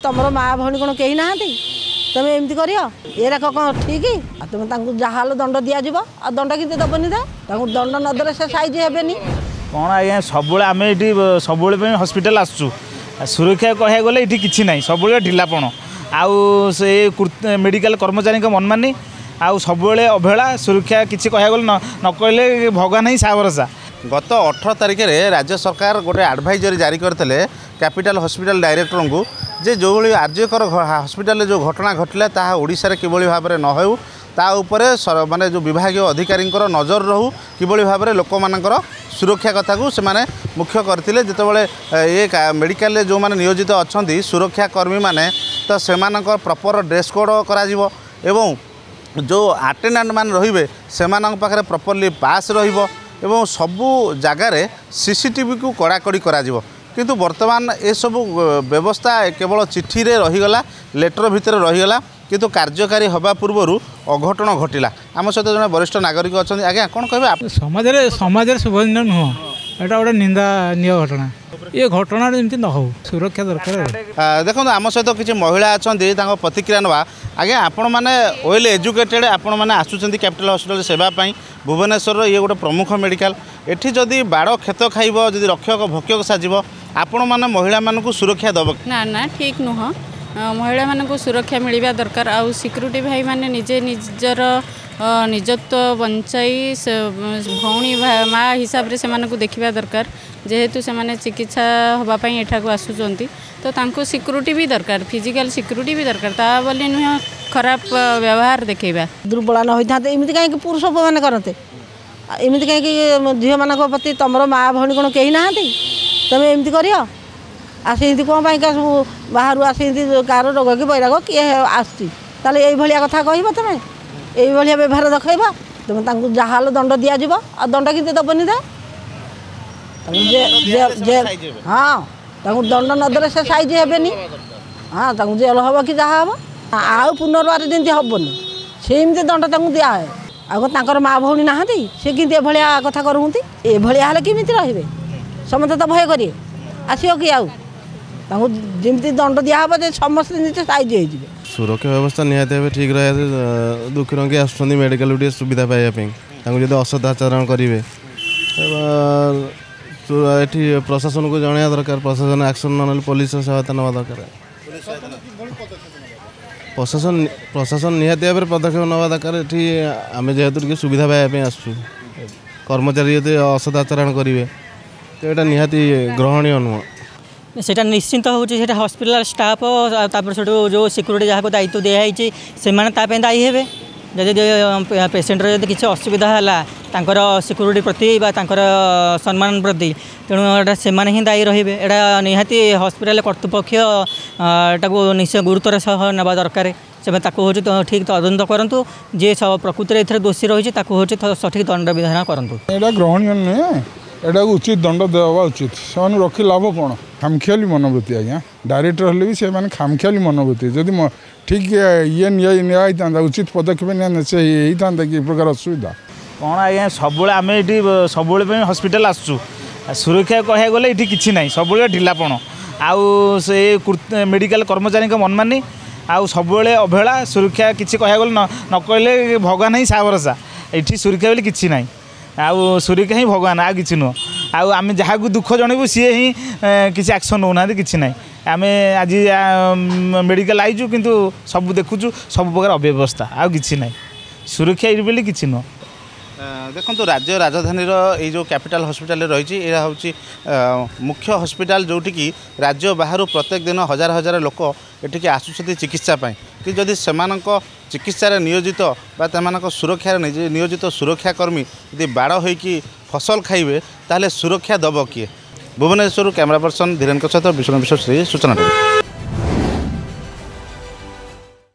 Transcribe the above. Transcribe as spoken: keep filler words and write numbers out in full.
ତମର ମା ଭଉଣୀ କ'ଣ କେହି ନାହାନ୍ତି? ତମେ ଏମିତି କରିବ? ଏରାକ କ'ଣ ଠିକ୍? ଆଉ ତମେ ତାଙ୍କୁ ଯାହାହେଲେ ଦଣ୍ଡ ଦିଆଯିବ। ଆଉ ଦଣ୍ଡ କେମିତି ଦେବନି ତ? ତାଙ୍କୁ ଦଣ୍ଡ ନଦେଲେ ସେ ସାଇଜ୍ ହେବେନି। କ'ଣ ଆଜ୍ଞା, ସବୁବେଳେ ଆମେ ଏଇଠି ସବୁବେଳେ ପାଇଁ ହସ୍ପିଟାଲ ଆସୁଛୁ। ସୁରକ୍ଷା କହିବାକୁ ଗଲେ ଏଇଠି କିଛି ନାହିଁ, ସବୁବେଳେ ଢିଲାପଣ ଆଉ ସେ ମେଡ଼ିକାଲ କର୍ମଚାରୀଙ୍କ ମନମାନି ଆଉ ସବୁବେଳେ ଅବହେଳା। ସୁରକ୍ଷା କିଛି କହିବାକୁ ଗଲେ ନ କହିଲେ ଭଗବାନ ହିଁ ସାହା ଭରସା। ଗତ ଅଠର ତାରିଖରେ ରାଜ୍ୟ ସରକାର ଗୋଟେ ଆଡ଼ଭାଇଜରୀ ଜାରି କରିଥିଲେ କ୍ୟାପିଟାଲ ହସ୍ପିଟାଲ ଡାଇରେକ୍ଟରଙ୍କୁ ଯେ ଯେଉଁଭଳି ଆର୍ଯ୍ୟକର ହସ୍ପିଟାଲରେ ଯେଉଁ ଘଟଣା ଘଟିଲା, ତାହା ଓଡ଼ିଶାରେ କିଭଳି ଭାବରେ ନ ହେଉ, ତା ଉପରେ ମାନେ ଯେଉଁ ବିଭାଗୀୟ ଅଧିକାରୀଙ୍କର ନଜର ରହୁ, କିଭଳି ଭାବରେ ଲୋକମାନଙ୍କର ସୁରକ୍ଷା କଥାକୁ ସେମାନେ ମୁଖ୍ୟ କରିଥିଲେ। ଯେତେବେଳେ ଏ ମେଡ଼ିକାଲରେ ଯେଉଁମାନେ ନିୟୋଜିତ ଅଛନ୍ତି ସୁରକ୍ଷା କର୍ମୀମାନେ, ତ ସେମାନଙ୍କ ପ୍ରପର ଡ୍ରେସ୍ କୋଡ଼୍ କରାଯିବ ଏବଂ ଯେଉଁ ଆଟେଣ୍ଡାଣ୍ଟ ମାନେ ରହିବେ, ସେମାନଙ୍କ ପାଖରେ ପ୍ରପରଲି ପାସ୍ ରହିବ ଏବଂ ସବୁ ଜାଗାରେ ସିସିଟିଭିକୁ କଡ଼ାକଡ଼ି କରାଯିବ। କିନ୍ତୁ ବର୍ତ୍ତମାନ ଏସବୁ ବ୍ୟବସ୍ଥା କେବଳ ଚିଠିରେ ରହିଗଲା, ଲେଟର ଭିତରେ ରହିଗଲା, କିନ୍ତୁ କାର୍ଯ୍ୟକାରୀ ହେବା ପୂର୍ବରୁ ଅଘଟଣ ଘଟିଲା। ଆମ ସହିତ ଜଣେ ବରିଷ୍ଠ ନାଗରିକ ଅଛନ୍ତି। ଆଜ୍ଞା, କ'ଣ କହିବେ? ସମାଜରେ ସମାଜରେ ଶୁଭନୀୟ ନୁହଁ, ଏଇଟା ଗୋଟେ ନିନ୍ଦାନୀୟ ଘଟଣା। ଏ ଘଟଣାରେ ଯେମିତି ନ ହଉ, ସୁରକ୍ଷା ଦରକାର। ଦେଖନ୍ତୁ, ଆମ ସହିତ କିଛି ମହିଳା ଅଛନ୍ତି, ତାଙ୍କ ପ୍ରତିକ୍ରିୟା ନେବା। ଆଜ୍ଞା, ଆପଣମାନେ ୱେଲ୍ ଏଜୁକେଟେଡ଼, ଆପଣମାନେ ଆସୁଛନ୍ତି କ୍ୟାପିଟାଲ ହସ୍ପିଟାଲ ସେବା ପାଇଁ। ଭୁବନେଶ୍ୱରର ଇଏ ଗୋଟେ ପ୍ରମୁଖ ମେଡ଼ିକାଲ। ଏଠି ଯଦି ବାଡ଼ କ୍ଷେତ ଖାଇବ, ଯଦି ରକ୍ଷକ ଭକ୍ଷକ ସାଜିବ, ଆପଣମାନେ ମହିଳାମାନଙ୍କୁ ସୁରକ୍ଷା ଦେବ? ନା ନା, ଠିକ୍ ନୁହଁ। ମହିଳାମାନଙ୍କୁ ସୁରକ୍ଷା ମିଳିବା ଦରକାର ଆଉ ସିକ୍ୟୁରିଟି ଭାଇମାନେ ନିଜେ ନିଜର ନିଜତ୍ୱ ବଞ୍ଚାଇ ଭଉଣୀ ମା ହିସାବରେ ସେମାନଙ୍କୁ ଦେଖିବା ଦରକାର। ଯେହେତୁ ସେମାନେ ଚିକିତ୍ସା ହେବା ପାଇଁ ଏଠାକୁ ଆସୁଛନ୍ତି, ତ ତାଙ୍କୁ ସିକ୍ୟୁରିଟି ବି ଦରକାର, ଫିଜିକାଲ ସିକ୍ୟୁରିଟି ବି ଦରକାର। ତା ବୋଲି ନୁହେଁ ଖରାପ ବ୍ୟବହାର ଦେଖେଇବା। ଦୁର୍ବଳ ନ ହୋଇଥାନ୍ତେ, ଏମିତି କାହିଁକି ପୁରୁଷ ମାନେ କରନ୍ତେ? ଏମିତି କାହିଁକି ଝିଅମାନଙ୍କ ପ୍ରତି? ତମର ମା ଭଉଣୀ କ'ଣ କେହି ନାହାନ୍ତି? ତମେ ଏମିତି କରିବ? ଆସି ଏମିତି କ'ଣ ପାଇଁକା ସବୁ ବାହାରୁ ଆସି ଏମିତି କାହାର ରୋଗ କି ବୈରାଗ କିଏ ଆସୁଛି, ତାହେଲେ ଏଇଭଳିଆ କଥା କହିବ ତମେ? ଏଇଭଳିଆ ବ୍ୟବହାର ଦେଖେଇବ? ତମେ ତାଙ୍କୁ ଯାହାହେଲେ ଦଣ୍ଡ ଦିଆଯିବ। ଆଉ ଦଣ୍ଡ କେମିତି ଦେବନି ତ? ହଁ, ତାଙ୍କୁ ଦଣ୍ଡ ନଦେଲେ ସେ ସାଇଜ୍ ହେବେନି। ହଁ, ତାଙ୍କୁ ଜେଲ ହେବ କି ଯାହା ହେବ, ଆଉ ପୁନର୍ବାର ଯେମିତି ହେବନି ସେମିତି ଦଣ୍ଡ ତାଙ୍କୁ ଦିଆହୁଏ। ଆଉ କ'ଣ ତାଙ୍କର ମା ଭଉଣୀ ନାହାନ୍ତି? ସେ କେମିତି ଏଭଳିଆ କଥା କରୁଛନ୍ତି? ଏଭଳିଆ ହେଲେ କେମିତି ରହିବେ? ସମସ୍ତେ ତ ଭୟ କରିବେ, ଆସିବ କି ଆଉ? ତାଙ୍କୁ ଯେମିତି ଦଣ୍ଡ ଦିଆହେବ ଯେ ସମସ୍ତେ ନିଜେ ସାଇଜ୍ ହେଇଯିବେ। ସୁରକ୍ଷା ବ୍ୟବସ୍ଥା ନିହାତି ଭାବେ ଠିକ୍ ରହିବା। ଦୁଃଖୀ ରଙ୍ଗୀ ଆସୁଛନ୍ତି ମେଡ଼ିକାଲକୁ ଟିକେ ସୁବିଧା ପାଇବା ପାଇଁ, ତାଙ୍କୁ ଯଦି ଅସଦାଚରଣ କରିବେ, ଏଠି ପ୍ରଶାସନକୁ ଜଣାଇବା ଦରକାର। ପ୍ରଶାସନ ଆକ୍ସନ୍ ନ ନେଲେ ପୋଲିସର ସହାୟତା ନେବା ଦରକାର। ପ୍ରଶାସନ ପ୍ରଶାସନ ନିହାତି ଭାବରେ ପଦକ୍ଷେପ ନେବା ଦରକାର। ଏଠି ଆମେ ଯେହେତୁ ଟିକେ ସୁବିଧା ପାଇବା ପାଇଁ ଆସୁଛୁ, କର୍ମଚାରୀ ଯଦି ଅସଦାଚରଣ କରିବେ, ତ ଏଇଟା ନିହାତି ଗ୍ରହଣୀୟ ନୁହଁ। ସେଇଟା ନିଶ୍ଚିନ୍ତ ହେଉଛି, ସେଇଟା ହସ୍ପିଟାଲ ଷ୍ଟାଫ୍, ତାପରେ ସେଠୁ ଯେଉଁ ସିକ୍ୟୁରିଟି ଯାହାକୁ ଦାୟିତ୍ୱ ଦିଆହେଇଛି, ସେମାନେ ତା ପାଇଁ ଦାୟୀ ହେବେ। ଯଦି ପେସେଣ୍ଟର ଯଦି କିଛି ଅସୁବିଧା ହେଲା ତାଙ୍କର ସିକ୍ୟୁରିଟି ପ୍ରତି ବା ତାଙ୍କର ସମ୍ମାନ ପ୍ରତି, ତେଣୁ ଏଇଟା ସେମାନେ ହିଁ ଦାୟୀ ରହିବେ। ଏଇଟା ନିହାତି ହସ୍ପିଟାଲ କର୍ତ୍ତୃପକ୍ଷ ଏଟାକୁ ନିଶ୍ଚୟ ଗୁରୁତ୍ୱର ସହ ନେବା ଦରକାର। ସେମାନେ ତାକୁ ହେଉଛି ଠିକ୍ ତଦନ୍ତ କରନ୍ତୁ। ଯିଏ ପ୍ରକୃତିରେ ଏଥିରେ ଦୋଷୀ ରହିଛି, ତାକୁ ହେଉଛି ସଠିକ୍ ଦଣ୍ଡ ବିଧାନ କରନ୍ତୁ। ଏଇଟା ଗ୍ରହଣୀୟ ନୁହେଁ, ଏଟାକୁ ଉଚିତ ଦଣ୍ଡ ଦେବା ଉଚିତ। ସେମାନଙ୍କୁ ରଖି ଲାଭ କ'ଣ? ଖାମଖିଆଲି ମନୋବୃତ୍ତି ଆଜ୍ଞା। ଡାଇରେକ୍ଟର ହେଲେ ବି ସେମାନେ ଖାମଖିଆଲି ମନୋବୃତ୍ତି। ଯଦି ଠିକ୍ ଇଏ ନିଆ ହେଇଥାନ୍ତା, ଉଚିତ ପଦକ୍ଷେପ ନିଆ ସେ ହେଇଥାନ୍ତା କି ଏ ପ୍ରକାର ଅସୁବିଧା? କ'ଣ ଆଜ୍ଞା, ସବୁବେଳେ ଆମେ ଏଇଠି ସବୁବେଳେ ପାଇଁ ହସ୍ପିଟାଲ ଆସୁଛୁ। ସୁରକ୍ଷା କହିବାକୁ ଗଲେ ଏଇଠି କିଛି ନାହିଁ, ସବୁବେଳେ ଢିଲାପଣ ଆଉ ସେ ମେଡ଼ିକାଲ କର୍ମଚାରୀଙ୍କ ମନମାନି ଆଉ ସବୁବେଳେ ଅବହେଳା। ସୁରକ୍ଷା କିଛି କହିବାକୁ ଗଲେ ନ କହିଲେ ଭଗବାନ ହିଁ ସାହା ଭରସା। ଏଠି ସୁରକ୍ଷା ବୋଲି କିଛି ନାହିଁ, ଆଉ ସୁରକ୍ଷା ହିଁ ଭଗବାନ, ଆଉ କିଛି ନୁହଁ। ଆଉ ଆମେ ଯାହାକୁ ଦୁଃଖ ଜଣେଇବୁ, ସିଏ ହିଁ କିଛି ଆକ୍ସନ୍ ନେଉନାହାନ୍ତି, କିଛି ନାହିଁ। ଆମେ ଆଜି ମେଡ଼ିକାଲ ଆଇଛୁ, କିନ୍ତୁ ସବୁ ଦେଖୁଛୁ ସବୁ ପ୍ରକାର ଅବ୍ୟବସ୍ଥା, ଆଉ କିଛି ନାହିଁ। ସୁରକ୍ଷା ଏଇଠି ବୋଲି କିଛି ନୁହଁ। ଦେଖନ୍ତୁ, ରାଜ୍ୟ ରାଜଧାନୀର ଏଇ ଯେଉଁ କ୍ୟାପିଟାଲ ହସ୍ପିଟାଲରେ ରହିଛି, ଏହା ହେଉଛି ମୁଖ୍ୟ ହସ୍ପିଟାଲ, ଯେଉଁଠିକି ରାଜ୍ୟ ବାହାରୁ ପ୍ରତ୍ୟେକ ଦିନ ହଜାର ହଜାର ଲୋକ ଏଠିକି ଆସୁଛନ୍ତି ଚିକିତ୍ସା ପାଇଁ। କିନ୍ତୁ ଯଦି ସେମାନଙ୍କ ଚିକିତ୍ସାରେ ନିୟୋଜିତ ବା ସେମାନଙ୍କ ସୁରକ୍ଷାରେ ନିୟୋଜିତ ସୁରକ୍ଷାକର୍ମୀ ଯଦି ବାଡ଼ ହୋଇକି ଫସଲ ଖାଇବେ, ତାହେଲେ ସୁରକ୍ଷା ଦେବ କିଏ? ଭୁବନେଶ୍ୱରରୁ କ୍ୟାମେରା ପର୍ସନ ଧୀରେନଙ୍କ ସହିତ ବିଷ୍ଣୁ ବିଶ୍ୱାସ, ସୂଚନା।